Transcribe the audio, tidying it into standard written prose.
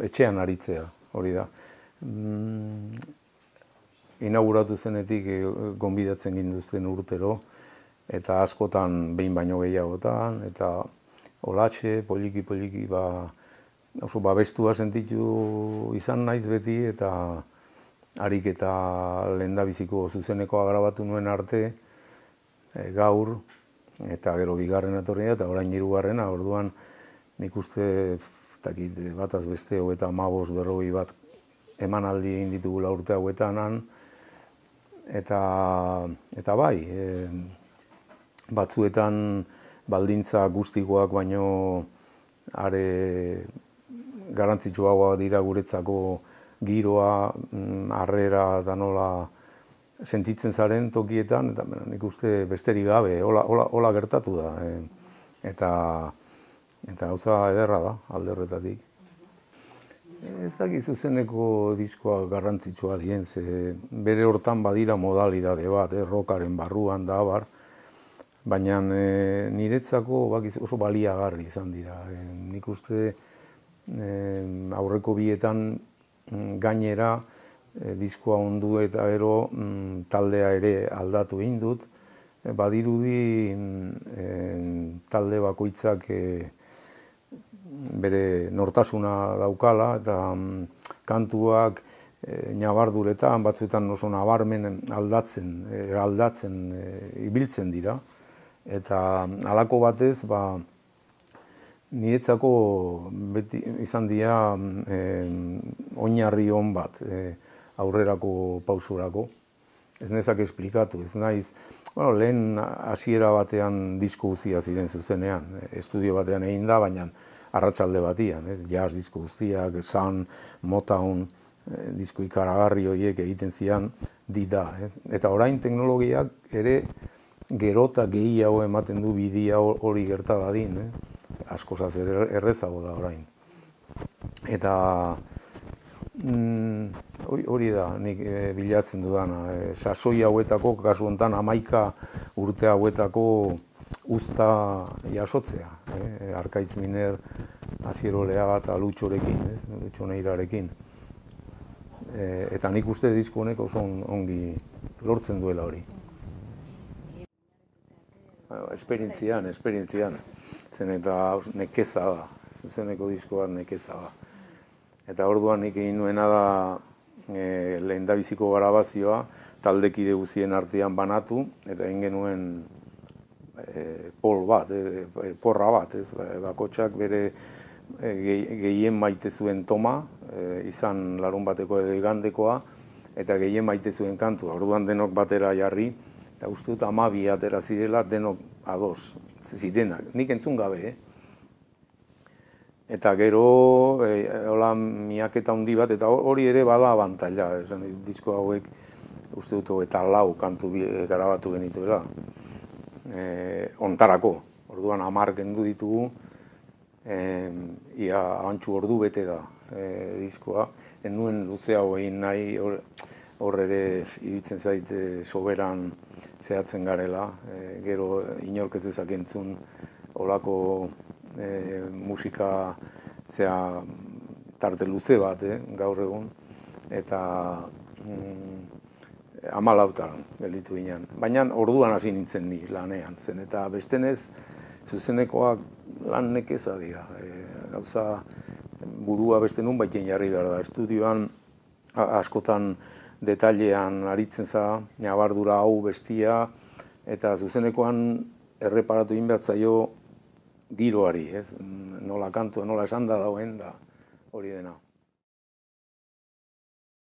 etxean aritzea, hori da. Inauguratu zenetik gonbidatzen ginduzten urtero, eta askotan behin baino gehiagotan, eta olatxe, poliki, oso babestua sentitu izan naiz beti, eta harik eta lehendabiziko zuzenekoa grabatu nuen arte, gaur, eta gero bigarren etorria, eta orain hirugarrena, orduan nik uste, bataz beste, 35-40 bat emanaldi egin ditugula urte hauetan, eta bai, batzuetan baldintza guztikoak baino are garrantzitsuagoa dira guretzako giroa, harrera eta nola sentitzen zaren tokietan, eta nik uste besterik gabe, hola gertatu da. Eta gauza ederra da, alde horretatik. Ez dakit zuzeneko diskoa garrantzitsua dien, ze bere hortan badira modalidade bat, rockaren barruan da, baina niretzako oso baliagarri izan dira. Nik uste aurreko bietan gainera diskoa ondu eta gero taldea ere aldatu egin dut. Badirudi talde bakoitzak bere nortasuna daukala, eta kantuak nabarduretan, batzuetan oso nabarmen aldatzen ibiltzen dira. Eta halako batez, niretzako beti izan dira oinarri on bat aurrerako pausurako. Ez nezak esplikatu, ez naiz, lehen hasiera batean disko guztia ziren zuzenean, estudio batean egin da, baina arratsalde batian, jazz disko guztiak, Sun, Motown, disko ikaragarri horiek egiten zian da. Eta orain teknologiak ere gero eta gehiago ematen du bidea hori gerta dadin, askozaz errezago da orain. Eta hori da nik bilatzen dudana, sasoi hauetako, kasu honetan 11 urte hauetako uzta jasotzea. Arkaitz Miner, Asier Oleaga eta Lutxorekin, Lutxo Neirarekin. Eta nik uste disko honek oso ongi lortzen duela hori. Esperientzian, zen eta nekeza da, zuzeneko disko bat nekeza da. Eta orduan nik egin nuena da lehendabiziko grabazioa taldekide guztien artean banatu, eta egin genuen porra bat, bakotxak bere gehien maite zuen toma, izan larunbateko edo igandekoa, eta gehien maite zuen kantua. Orduan denok batera jarri, eta uste dut 12 atera zirela denok ados zirenak, nik entzun gabe, Eta gero, hola miaketa handi bat, eta hori ere bada abantaila, disko hauek uste dut eta 4 kantu grabatu genituela, ontarako. Orduan 10 kendu ditugu, ia antxu ordu bete da diskoa. Ez nuen luzeago egin nahi, hor ere iruditzen zait soberan zehatzen garela, gero inork ez dezak entzun holako musika tarte luze bat gaur egun, eta 14 gelditu ginen. Baina orduan hasi nintzen ni lanean zen, eta bestenez zuzenekoak lan nekeza dira. Gauza burua beste nun baiten jarri behar da. Estudioan askotan detailean aritzen za, nabardura hau bestia, eta zuzenekoan erreparatu egin behar zaio giroari, nola kantu, nola esan da dauen da hori dena.